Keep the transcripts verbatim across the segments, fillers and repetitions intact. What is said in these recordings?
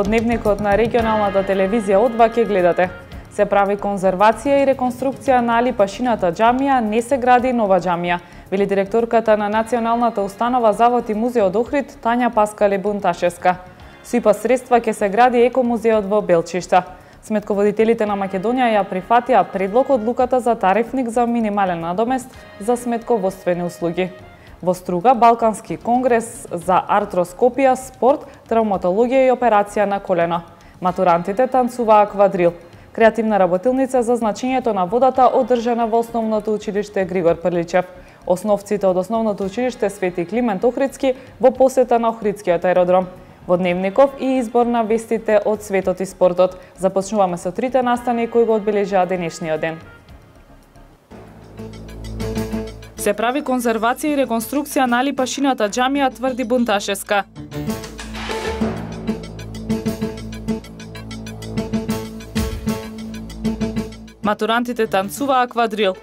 Во дневникот на регионалната телевизија О два ќе гледате: се прави конзервација и реконструкција на Али Пашината џамија, не се гради нова џамија, вели директорката на Националната установа Завод и музеј од Охрид Тања Паскале Бунташевска. Со ИПА средства ќе се гради екомузеот во Белчишта. Сметководителите на Македонија ја прифатија предлог одлуката за тарифник за минимален надомест за сметководствени услуги. Во Струга, Балкански конгрес за артроскопија, спорт, травматологија и операција на колено. Матурантите танцуваа квадрил. Креативна работилница за значењето на водата одржана во Основното училиште Григор Прличев. Основците од Основното училиште Свети Климент Охридски во посета на Охридскиот аеродром. Во дневников и избор на вестите од светот и спортот. Започнуваме со трите настани кои го одбележаа денешниот ден. Се прави конзервација и реконструкција на Али Пашината џамија, тврди Бунташевска. Матурантите танцуваа квадрил.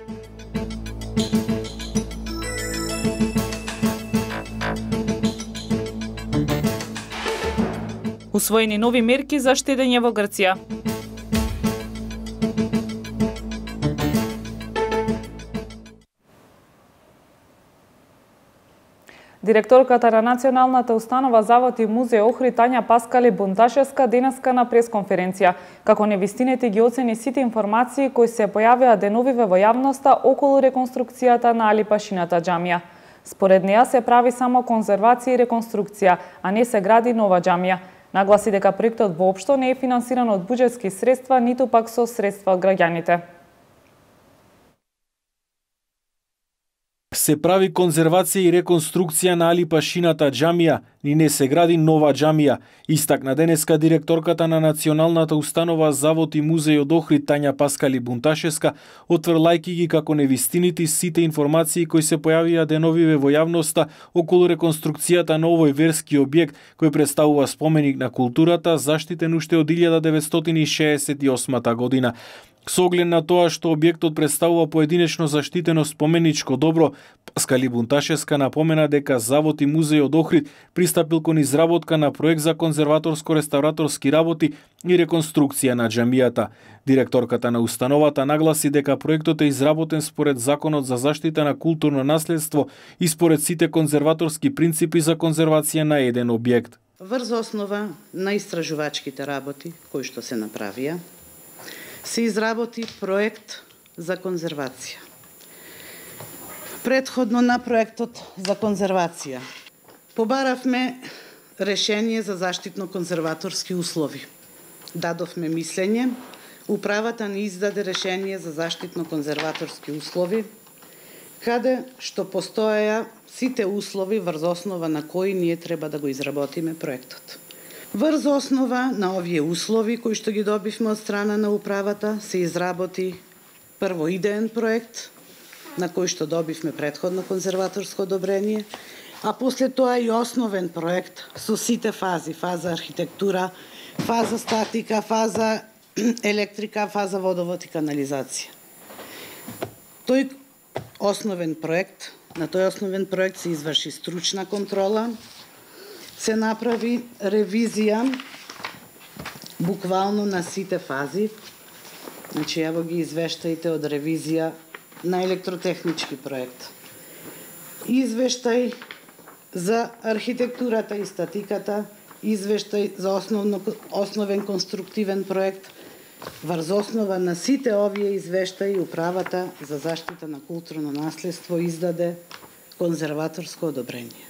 Усвоени нови мерки за штедење во Грција. Директорката на Националната установа Завод и музеј Охрид Тања Паскале Бунташевска денеска на пресконференција, како невистините ги оцени сите информации кои се појавија деновиве во јавноста околу реконструкцијата на Али Пашината џамија. Според неа се прави само конзервација и реконструкција, а не се гради нова џамија. Нагласи дека проектот воопшто не е финансиран од буџетски средства, ниту пак со средства од граѓаните. Се прави конзервација и реконструкција на Али Пашината џамија, ни не се гради нова џамија, истакна денеска директорката на Националната установа Завод и музеј од Охрид Тања Паскале Бунташевска, отврлајки ги како невистините сите информации кои се појавија деновиве во јавноста околу реконструкцијата на овој верски објект кој представува споменик на културата, заштитен уште од илјада деветстотини шеесет и осма година. Со оглед на тоа што објектот представува поединечно заштитено споменичко добро, Паскале Бунташевска напомена дека Завод и музеј од Охрид пристапил кон изработка на проект за конзерваторско-реставраторски работи и реконструкција на џамијата. Директорката на установата нагласи дека проектот е изработен според Законот за заштита на културно наследство и според сите конзерваторски принципи за конзервација на еден објект. Врз основа на истражувачките работи кои што се направија, се изработи проект за конзервација. Предходно на проектот за конзервација побаравме решение за заштитно-конзерваторски услови. Дадовме мислење, управата ни издаде решение за заштитно-конзерваторски услови, каде што постоеја сите услови врз основа на кои ние треба да го изработиме проектот. Врз основа на овие услови кои што ги добивме од страна на управата, се изработи прво идеен проект, на кој што добивме предходно конзерваторско одобрение, а после тоа и основен проект со сите фази, фаза архитектура, фаза статика, фаза електрика, фаза водовод и канализација. Тој основен проект, на тој основен проект се изврши стручна контрола, се направи ревизија буквално на сите фази. Значи, ево ги извештаите од ревизија на електротехнички проект. Извештај за архитектурата и статиката, извештај за основно, основен конструктивен проект. Врз основа на сите овие извештаи управата за заштита на културно наследство издаде конзерваторско одобрение.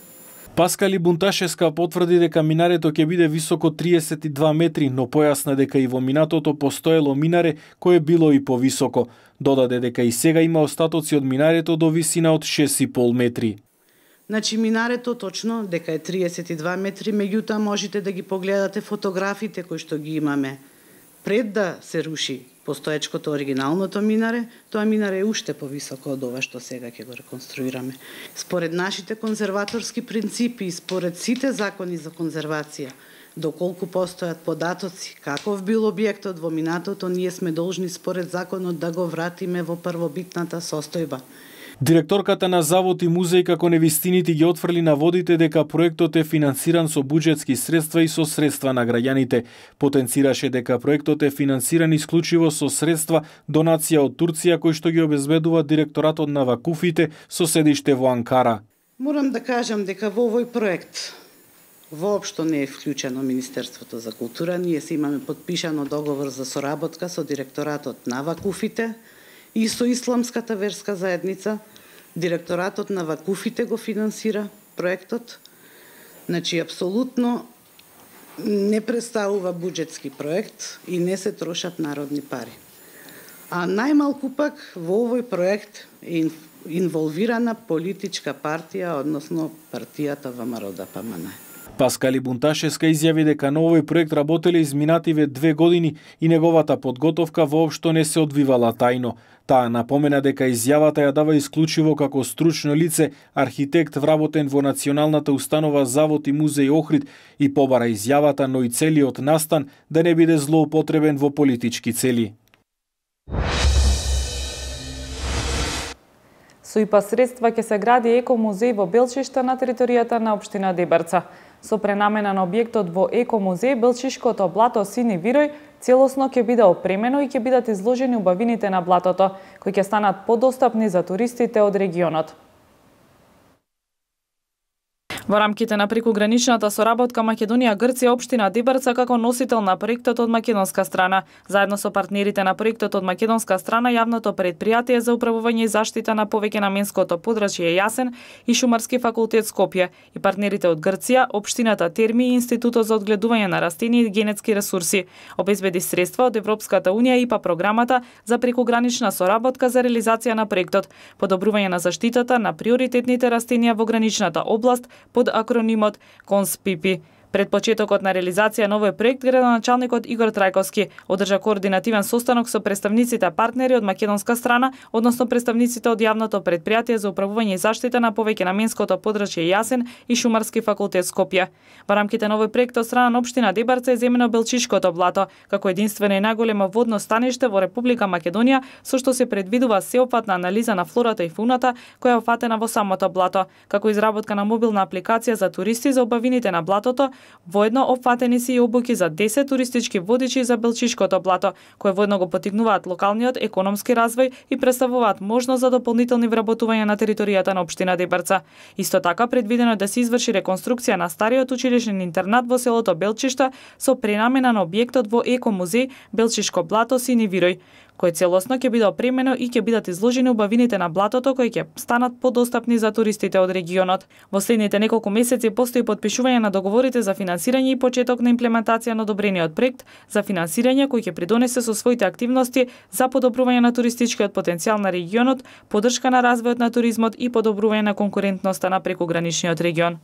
Паскале Бунташевска потврди дека минарето ќе биде високо триесет и два метри, но појасна дека и во минатото постоело минаре кое било и повисоко. Додаде дека и сега има остатоци од минарето до висина од шест и пол метри. Значи минарето точно дека е триесет и два метри, меѓутоа можете да ги погледате фотографите кои што ги имаме. Пред да се руши постоечкото оригиналното минаре, тоа минаре е уште повисоко од ова што сега ќе го реконструираме. Според нашите конзерваторски принципи и според сите закони за конзервација, доколку постојат податоци каков бил објектот во минатото, ние сме должни според законот да го вратиме во првобитната состојба. Директорката на Завод и музеј како невистините ги отфрли на водите дека проектот е финансиран со буџетски средства и со средства на граѓаните. Потенцираше дека проектот е финансиран исклучиво со средства донација од Турција кои што ги обезбедува директоратот на Вакуфите со седиште во Анкара. Морам да кажам дека во овој проект воопшто не е вклучено Министерството за култура. Ние си имаме подпишано договор за соработка со директоратот на Вакуфите и со Исламската верска заедница. Директоратот на Вакуфите го финансира проектот. Значи, апсолутно не представува буџетски проект и не се трошат народни пари. А најмалку пак во овој проект е инволвирана политичка партија, односно партијата ВМРО Д П М Н. Паскали Бунташевска изјави дека на овој проект работеле изминативе две години и неговата подготовка воопшто не се одвивала тајно. Таа напомена дека изјавата ја дава исклучиво како стручно лице, архитект вработен во Националната установа Завод и музеј Охрид и побара изјавата, но и целиот настан да не биде злоупотребен во политички цели. Со ИПА средства ќе се гради еко-музеј во Белчишта на територијата на општина Дебарца. Со пренамена на објектот во еко-музеј, Белчишкото блато Сини Вирој целосно ќе биде опремено и ќе бидат изложени убавините на блатото, кои ќе станат подостапни за туристите од регионот. Во рамките на прекуграничната соработка Македонија-Грција, општина Дебарца како носител на проектот од македонска страна, заедно со партнерите на проектот од македонска страна, јавното предпријатие за управување и заштита на повеќенаменското подрачје Јасен и Шумарски факултет Скопје и партнерите од Грција, општината Терми и Институтот за одгледување на растенија и генетски ресурси, обезбеди средства од Европската унија и ИПА програмата за прекугранична соработка за реализација на проектот, подобрување на заштитата на приоритетните растенија во граничната област под акронимот КОНСПИПИ. Пред почетокот на реализација на овој проект, градоначалникот Игор Трајковски одржа координативен состанок со представниците партнери од македонска страна, односно представниците од јавното предпријатие за управување и заштита на повеќенаменското подрачје Јасен и Шумарски факултет Скопје. Во рамките на овој проект од страна на општина Дебарца е земено Белчишкото блато, како единствено и најголемо водно станиште во Република Македонија, со што се предвидува сеопфатна анализа на флората и фауната која е офатена во самото блато, како изработка на мобилна апликација за туристи за убавините на блатото. Воедно опфатени се и обуки за десет туристички водичи за Белчишкото блато, кои воедно го поттикнуваат локалниот економски развој и представуваат можност за дополнителни вработувања на територијата на општина Дебарца. Исто така предвидено е да се изврши реконструкција на стариот училишен интернат во селото Белчишта со пренамена на објектот во еко-музеј Белчишко блато Сини Вирој, кој целосно ќе биде опремено и ќе бидат изложени убавините на блатото кои ќе станат подостапни за туристите од регионот. Во следните неколку месеци постои подпишување на договорите за финансирање и почеток на имплементација на одобрениот проект за финансирање кој ќе придонесе со своите активности за подобрување на туристичкиот потенцијал на регионот, поддршка на развојот на туризмот и подобрување на конкурентноста на прекуграничниот регион.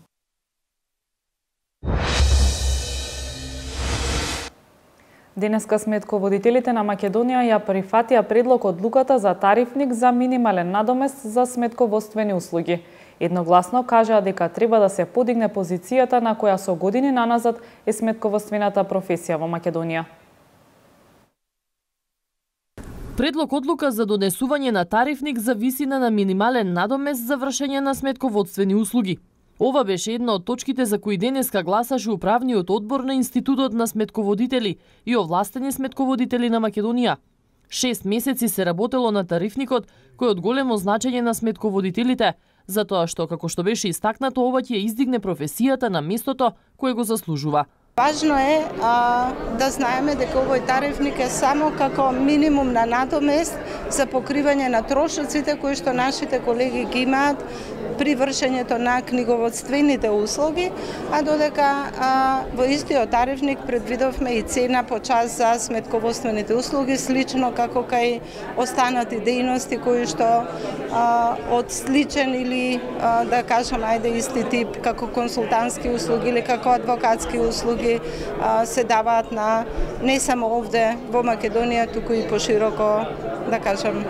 Денеска сметководителите на Македонија ја прифатија предлог одлуката за тарифник за минимален надомест за сметководствени услуги. Едногласно кажаа дека треба да се подигне позицијата на која со години наназад е сметководствената професија во Македонија. Предлог одлука за донесување на тарифник за висина на минимален надомест за вршење на сметководствени услуги. Ова беше една од точките за кои денеска гласаше управниот одбор на Институтот на сметководители и овластени сметководители на Македонија. Шест месеци се работело на тарифникот, кој од големо значење на сметководителите, затоа што, како што беше истакнато, ова ќе издигне професијата на местото кое го заслужува. Важно е а, да знаеме дека овој тарифник е само како минимум на надомест за покривање на трошоците кои што нашите колеги ги имаат при вршењето на книговодствените услуги, а додека а, во истиот тарифник предвидовме и цена по час за сметководствените услуги, слично како кај останати дејности кои што а, од сличен или а, да кажам ајде исти тип како консултантски услуги или како адвокатски услуги а, се даваат на не само овде во Македонија, туку и пошироко, да кажам,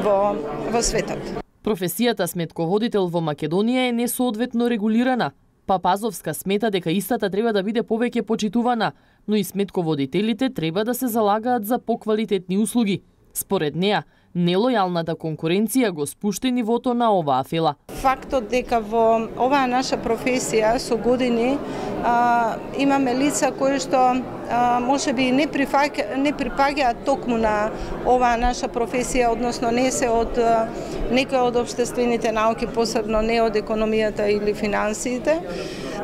во во светот. Професијата сметководител во Македонија е несоодветно регулирана. Папазовска смета дека истата треба да биде повеќе почитувана, но и сметководителите треба да се залагаат за поквалитетни услуги. Според неа, нелојалната конкуренција го спушти нивото на оваа фела. Фактот дека во оваа наша професија со години а, имаме лица кои што а, може би не прифаќа, не припаѓаат токму на оваа наша професија, односно не се од а, некои од општествените науки, посебно не од економијата или финансиите.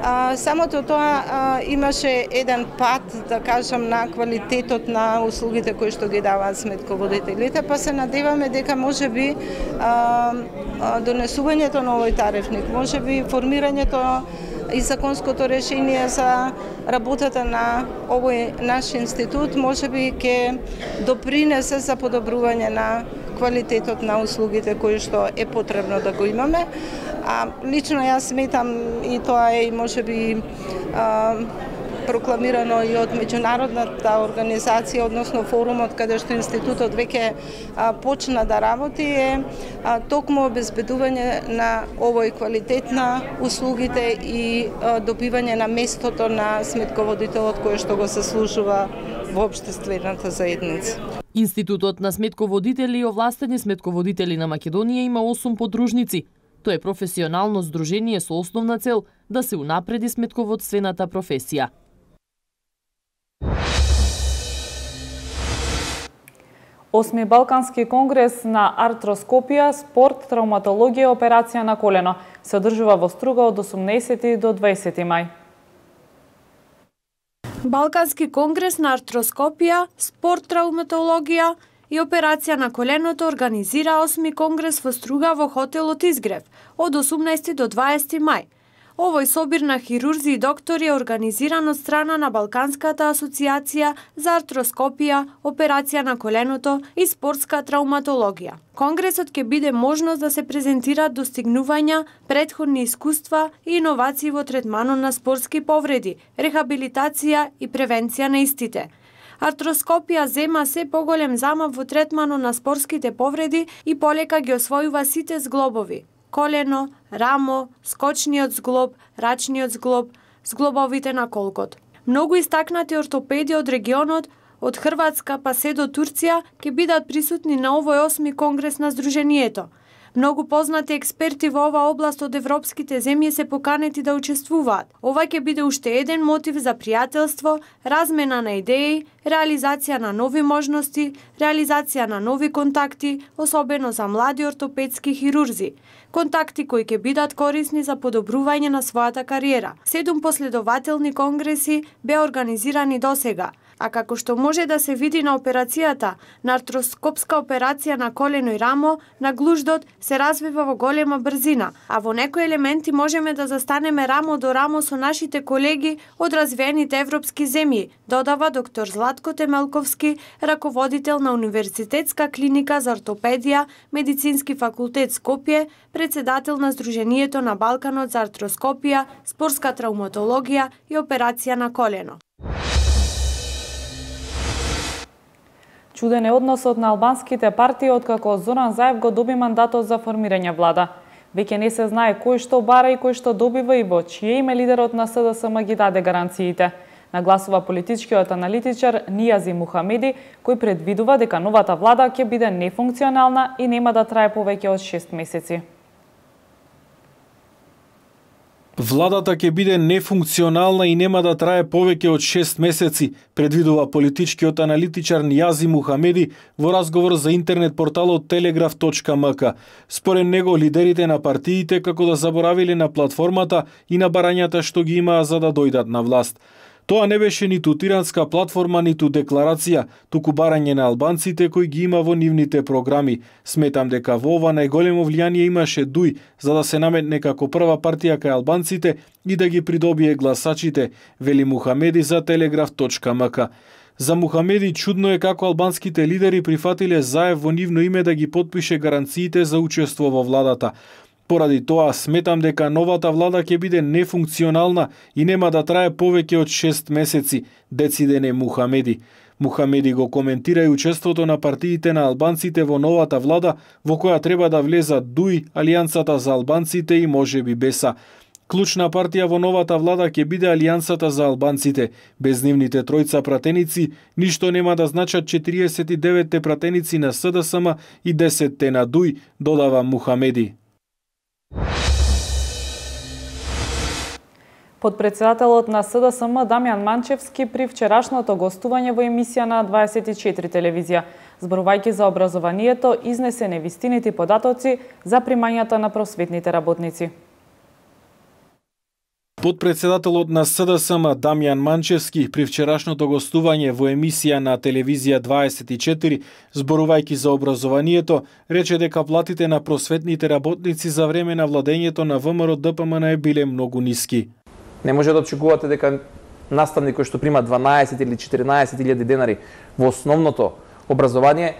А, самото тоа а, имаше еден пат, да кажам, на квалитетот на услугите кои што ги даваат сметководителите, па се надеваме дека може би а, а, донесувањето на овој тарифник, може би формирањето и законското решение за работата на овој наш институт може би ќе допринесе за подобрување на квалитетот на услугите кои што е потребно да го имаме. А лично јас сметам, и тоа е може би а, прокламирано и од меѓународната организација, односно форумот каде што институтот веќе а, почна да работи, е а, токму обезбедување на овој квалитет на услугите и а, добивање на местото на сметководителот кој што го заслужува во општествената заедница. Институтот на сметководители и овластени сметководители на Македонија има осум подружници. Тоа е професионално здружение со основна цел да се унапреди сметководствената професија. Осми Балкански конгрес на артроскопија, спорт, травматологија и операција на колено се одржува во Струга од осумнаесети до дваесети мај. Балкански конгрес на артроскопија, спорт, травматологија и операција на коленото организира осми конгрес во Струга во хотелот Изгрев од осумнаесети до дваесети мај. Овој собир на хирурзи и доктори е организиран од страна на Балканската асоциација за артроскопија, операција на коленото и спортска травматологија. Конгресот ќе биде можност да се презентираат достигнувања, претходни искуства и иновации во третманот на спортски повреди, рехабилитација и превенција на истите. Артроскопија зема се поголем замав во третманот на спортските повреди и полека ги освојува сите зглобови: колено, рамо, скочниот зглоб, рачниот зглоб, зглобовите на колкот. Многу истакнати ортопеди од регионот, од Хрватска па се до Турција, ќе бидат присутни на овој осми конгрес на Сдруженијето. Многу познати експерти во оваа област од европските земји се поканети да учествуваат. Ова ќе биде уште еден мотив за пријателство, размена на идеи, реализација на нови можности, реализација на нови контакти, особено за млади ортопедски хирурзи. Контакти кои ќе бидат корисни за подобрување на својата кариера. Седум последователни конгреси беа организирани досега, а како што може да се види на операцијата, на артроскопска операција на колено и рамо, наглуждот се развива во голема брзина, а во некои елементи можеме да застанеме рамо до рамо со нашите колеги од развиените европски земји, додава доктор Златко Темелковски, раководител на Универзитетска клиника за ортопедија, Медицински факултет Скопје, председател на Сдруженијето на Балканот за артроскопија, спортска травматологија и операција на колено. Чуден е односот на албанските партии откако Зоран Заев го доби мандатот за формирање влада. Веќе не се знае кој што бара и кој што добива и во чие име лидерот на С Д С М ги даде гаранциите. Нагласува политичкиот аналитичар Нијази Мухамеди, кој предвидува дека новата влада ќе биде нефункционална и нема да трае повеќе од шест месеци. Владата ќе биде нефункционална и нема да трае повеќе од шест месеци, предвидува политичкиот аналитичар Нијази Мухамеди во разговор за интернет порталот телеграф точка ем ка. Според него, лидерите на партиите како да заборавиле на платформата и на барањата што ги имаа за да дојдат на власт. Тоа не беше ниту тиранска платформа, ниту декларација, туку барање на албанците кои ги има во нивните програми. Сметам дека во ова најголемо влијание имаше Дуј за да се наметне како прва партија кај албанците и да ги придобие гласачите, вели Мухамеди за телеграф точка ем ка. За Мухамеди чудно е како албанските лидери прифатиле Заев во нивно име да ги потпише гаранциите за учество во владата. Поради тоа сметам дека новата влада ќе биде нефункционална и нема да трае повеќе од шест месеци, децидене Мухамеди. Мухамеди го коментира и учеството на партиите на албанците во новата влада, во која треба да влезат Дуј, Алијансата за албанците и можеби Беса. Клучна партија во новата влада ќе биде Алијансата за албанците. Без нивните тројца пратеници, ништо нема да значат четириесет и деветте пратеници на С Д С М и десетте на Дуј, додава Мухамеди. Подпредседателот на С Д С М Дамјан Манчевски при вчерашното гостување во емисија на дваесет и четири телевизија, зборувајќи за образованието, изнесе невистините податоци за примањата на просветните работници. Подпредседателот на С Д С М Дамјан Манчевски при вчерашното гостување во емисија на телевизија дваесет и четири, зборувајќи за образованието, рече дека платите на просветните работници за време на владењето на В М R Д П М Н биле многу ниски. Не може да очекувате дека наставник кој што прима дванаесет или четиринаесет илјади денари во основното образование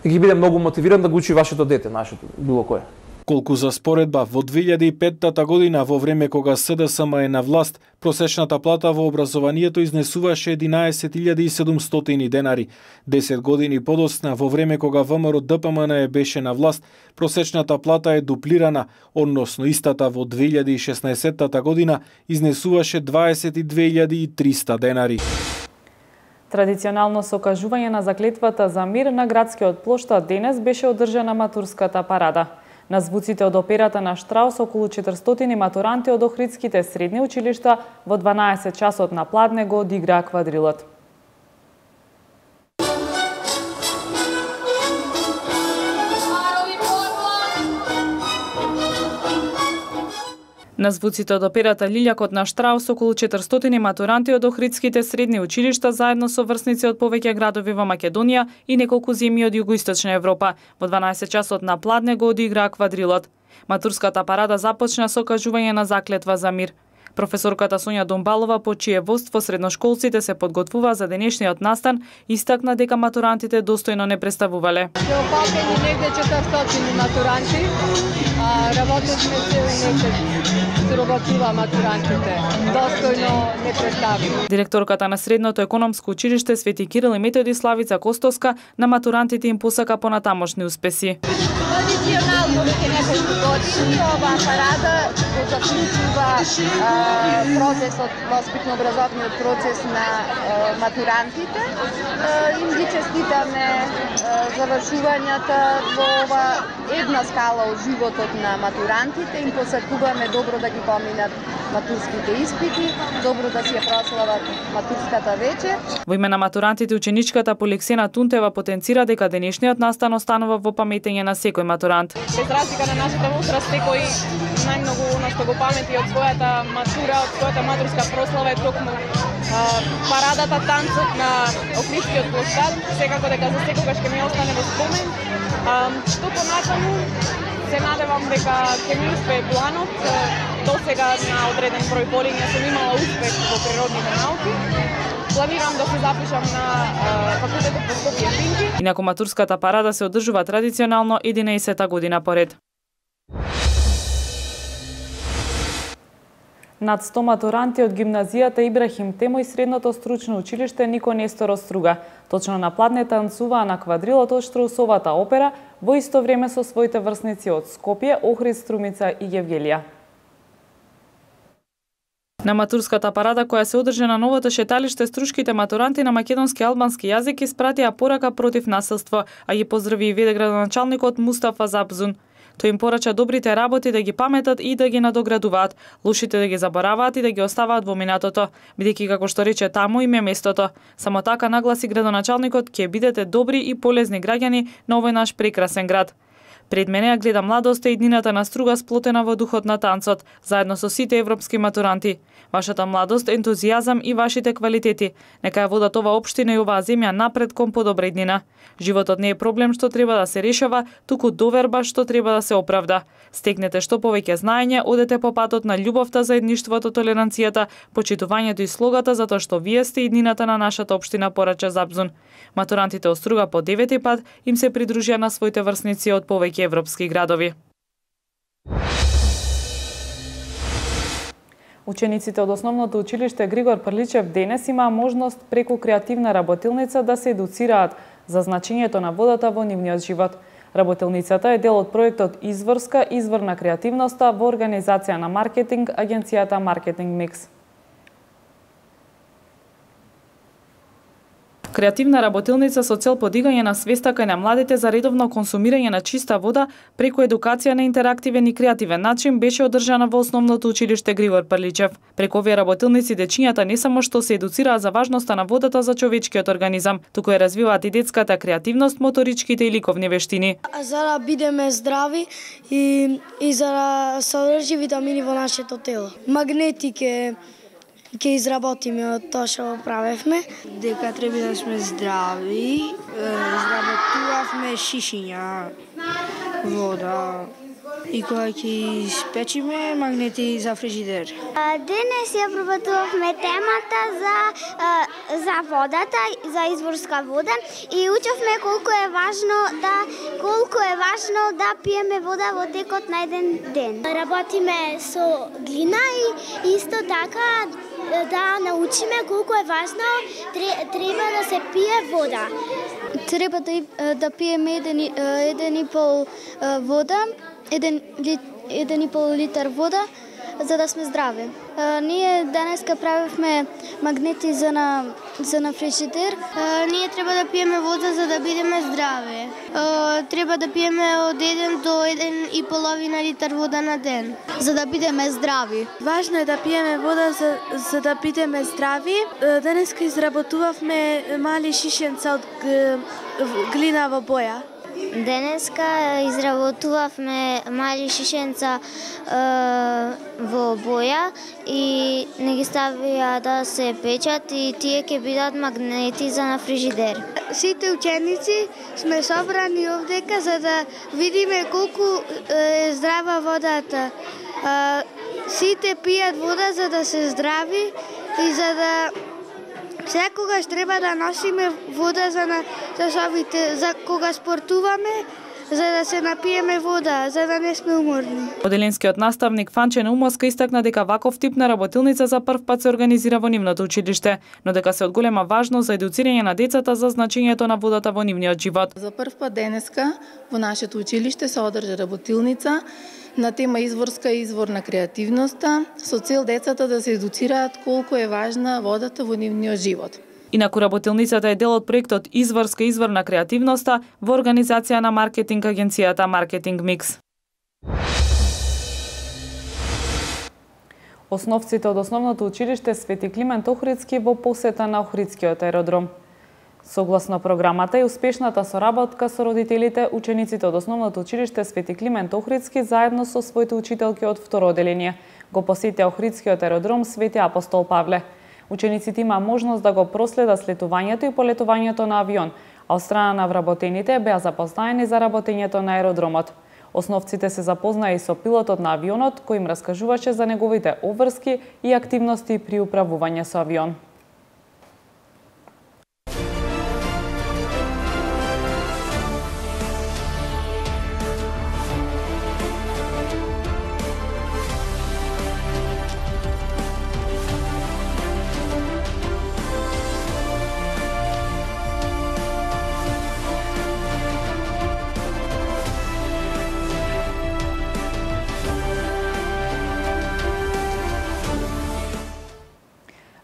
ќе биде многу мотивиран да го учи вашето дете, нашето, било кое. Колку за споредба, во две илјади и петта година, во време кога С Д С М е на власт, просечната плата во образованието изнесуваше единаесет илјади и седумстотини денари. десет години подоцна, во време кога В М R Д П М Н беше на власт, просечната плата е дуплирана, односно истата во две илјади и шеснаесетта година изнесуваше дваесет и две илјади и триста денари. Традиционално со окажување на заклетвата за мир на градскиот плоштад денес беше одржана матурската парада. На звуците од операта на Штраус околу четиристотини матуранти од охридските средни училишта во дванаесет часот на пладне го одиграа квадрилот. На звуците од операта Лилјакот на Штраус околу четиристотини матуранти од охридските средни училишта заедно со врсници од повеќе градови во Македонија и неколку земји од југоисточна Европа во дванаесет часот на пладне го одиграа квадрилот. Матурската парада започна со кажување на заклетва за мир. Професорката Сонја Домбалова, по чие водство средношколците се подготвува за денешниот настан, истакна дека матурантите достојно не представувале. Се опакени негде четиристотини матуранти, а работевме се месец, сработува матурантите. Достојно не представи. Директорката на Средното економско училиште Свети Кирил и Методи Славица Костоска на матурантите им посака понатамошни успеси. Традиционално веќе неколку години оваа парада го заклучува процесот, воспитно-образовниот процес на матурантите. Им ги честитаме завршувањата во ова една скала од животот на матурантите, им посакуваме добро да ги поминат матурските испити, добро да си ја прослават матурската вечер. Во име на матурантите, ученичката Полексена Тунтева потенцира дека денешниот настан останува во паметење на секој матурант. Без разлика на нашата возраст, секој најмногу она што го памети од својата матура, од својата матурска прослава е токму парадата, танцот на Охридскиот плоштад, секако дека за секогаш ќе ми остане во спомен. Што понатаму, се надевам дека ќе ми успее планот. До сега на одреден број полиња сум имала успех во природните науки. Планирам да се запишам на факултетот по Скопје Пинки. Инаку матурската парада се одржува традиционално единаесета година поред. Над сто матуранти од гимназијата Ибрахим Темо и Средното стручно училиште Нико Несторов Струга точно на пладне танцуваа на квадрилот од Штраусовата опера во исто време со своите врсници од Скопје, Охрид, Струмица и Јевгелија. На матурската парада која се одржа на новото шеталиште, струшките матуранти на македонски и албански јазик испратија порака против насилство, а ги поздрави и веде градоначалникот Мустафа Запзун. Тој им порача добрите работи да ги паметат и да ги надоградуваат, лошите да ги забораваат и да ги оставаат во минатото, бидејќи како што рече таму им е местото. Само така нагласи градоначалникот, ќе бидете добри и полезни граѓани на овој наш прекрасен град. Пред мене ја гледа младоста и иднината на Струга сплотена во духот на танцот, заедно со сите европски матуранти. Вашата младост, ентузијазам и вашите квалитети нека ја водат ова општина и оваа земја напред кон подобра иднина. Животот не е проблем што треба да се решава, туку доверба што треба да се оправда. Стекнете што повеќе знаење, одете по патот на љубовта, заедништвото, толеранцијата, почитувањето и слогата, затоа што вие сте иднината на нашата општина, порача Запзун. Матурантите од Струга по девети пат им се придружија на своите врсници од повеќе европски градови. Учениците од основното училиште Григор Прличев денес имаа можност преку креативна работилница да се едуцираат за значењето на водата во нивниот живот. Работилницата е дел од проектот Изворска извор на креативноста во организација на маркетинг агенцијата Маркетинг Микс. Креативна работилница со цел подигање на свеста кај на младите за редовно консумирање на чиста вода преку едукација на интерактивен и креативен начин беше одржана во Основното училиште Григор Прличев. Преку овие работилници дечињата не само што се едуцираат за важноста на водата за човечкиот организам, туку ја развиваат и детската креативност, моторичките и ликовни вештини. За да бидеме здрави и, и за да содржи витамини во нашето тело. Магнетики ќе изработиме од тоа што правевме. Дека треба да сме здрави, изработувавме шишиња, вода и кога ќе испечиме магнети за фрижидер. Денес ја пробатувавме темата за за водата, за изворска вода и учевме колку е важно да колку е важно да пиеме вода во текот на еден ден. Работиме со глина и исто така да научиме колку е важно треба да се пие вода. Треба да, да пиеме еден, еден и пол вода, еден, еден и пол литар вода, за да сме здрави. А, ние денеска правевме магнети за на, за на фрижидер. А, ние треба да пиеме вода за да бидеме здрави. А, треба да пиеме од еден до еден и половина литар вода на ден, за да бидеме здрави. Важно е да пиеме вода за, за да бидеме здрави. Денеска изработувавме мали шишенца од глинава боја. Денеска изработувавме мали шишенца е, во боја и не ги ставија да се печат и тие ќе бидат магнети за на фрижидер. Сите ученици сме собрани овдека за да видиме колку е здрава водата. Е, сите пијат вода за да се здрави и за да секогаш треба да носиме вода за на часовите, за кога спортуваме, за да се напиеме вода, за да не сме уморни. Оделенскиот наставник Фанче Наумовска истакна дека ваков тип на работилница за прв пат се организира во нивното училиште, но дека се од голема важност за едуцирање на децата за значењето на водата во нивниот живот. За прв пат денеска во нашето училиште се одржа работилница на тема Изворска извор на креативноста, со цел децата да се едуцираат колку е важна водата во нивниот живот. Инаку работилницата е дел од проектот Изворска извор на креативноста во организација на маркетинг агенцијата Маркетинг Микс. Основците од Основното училиште Свети Климент Охридски во посета на Охридскиот аеродром. Согласно програмата и успешната соработка со родителите, учениците од Основното училиште Свети Климент Охридски заедно со своите учителки од второ оделение го посетија Охридскиот аеродром Свети Апостол Павле. Учениците има можност да го проследат слетувањето и полетувањето на авион, а од страна на вработените беа запознаени за работењето на аеродромот. Основците се запознаи со пилотот на авионот, кој им раскажуваше за неговите обврски и активности при управување со авион.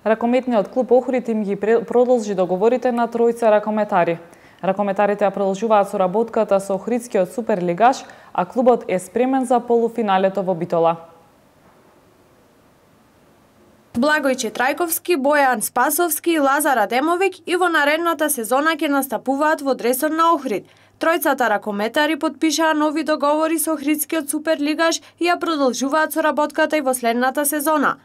Ракометниот клуб Охрид им ги продолжи договорите на тројца ракометари. Ракометарите ја продолжуваат соработката со Охридскиот суперлигаш, а клубот е спремен за полуфиналето во Битола. Благојче Трајковски, Бојан Спасовски и Лазар Адемовик и во наредната сезона ќе настапуваат во дресот на Охрид. Тројцата ракометари потпишаа нови договори со Охридскиот суперлигаш и ја продолжуваат соработката и во следната сезона.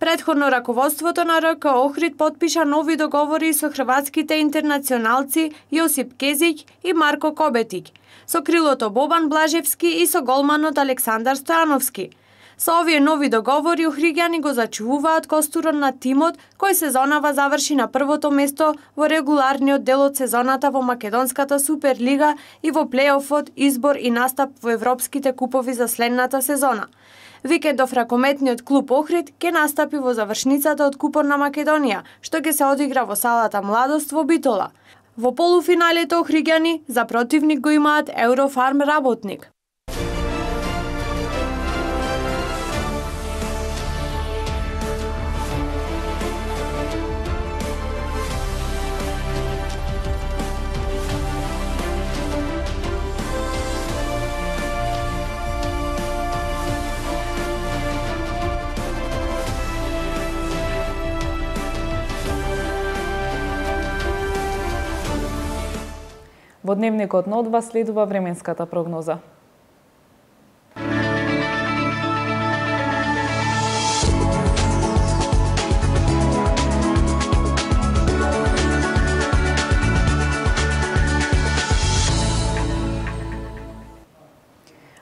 Предходно раководството на РК Охрид потпиша нови договори со хрватските интернационалци Јосип Кезик и Марко Кобетик, со крилото Бобан Блажевски и со голманот Александар Стојановски. Со овие нови договори охриѓани го зачувуваат костурот на тимот кој сезонава заврши на првото место во регуларниот дел од сезоната во Македонската Суперлига и во плејофот, избор и настап во европските купови за следната сезона. Викендов ракометниот клуб Охрид ќе настапи во завршницата од Купот на Македонија, што ќе се одигра во салата Младост во Битола. Во полуфиналите Охриѓани за противник го имаат Еврофарм Работник. Во дневникот на Одва следува временската прогноза.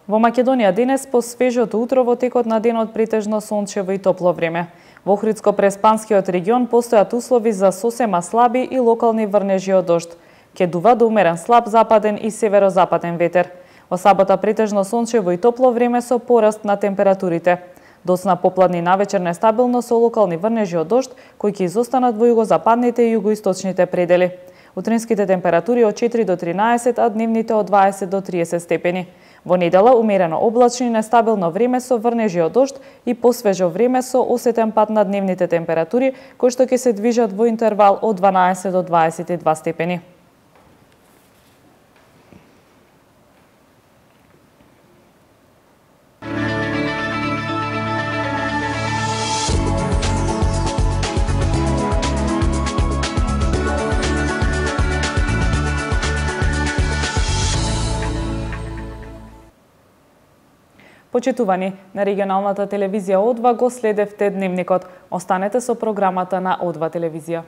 Во Македонија денес по свежото утро во текот на денот претежно сончево и топло време. Во Охридско-Преспанскиот регион постојат услови за сосема слаби и локални врнежи од дожд. Ке дува до умерен слаб западен и северозападен ветер. Во сабота претежно сончево и топло време со пораст на температурите. Доцна попладни навечер нестабилно со локални врнежи од дожд, кои ќе изостанат во југозападните и југоисточните предели. Утринските температури од четири до тринаесет, а дневните од дваесет до триесет степени. Во недела умерено облачно и нестабилно време со врнежи од дожд и посвежо време со осетен пад на дневните температури, кои што ќе се движат во интервал од дванаесет до дваесет и два степени. Почитувани, на регионалната телевизија Одва го следевте дневникот. Останете со програмата на Одва телевизија.